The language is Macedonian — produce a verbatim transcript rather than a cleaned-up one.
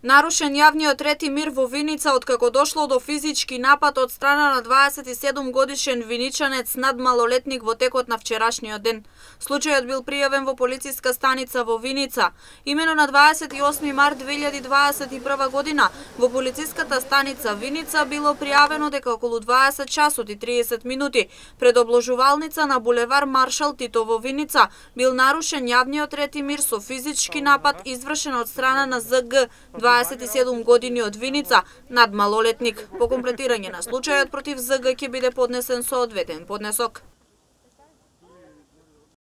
Нарушен јавниот ред и мир во Виница откако дошло до физички напад од страна на дваесет и седум годишен виничанец над малолетник во текот на вчерашниот ден. Случајот бил пријавен во полициска станица во Виница. Имено на дваесет и осми март две илјади дваесет и прва година во полициската станица Виница било пријавено дека околу дваесет часот и триесет минути пред обложувалница на булевар Маршал Тито во Виница бил нарушен јавниот ред и мир со физички напад извршен од страна на З Г дваесет и седум години од Виница над малолетник. По комплетирање на случајот против З Г ќе биде поднесен соодветен поднесок.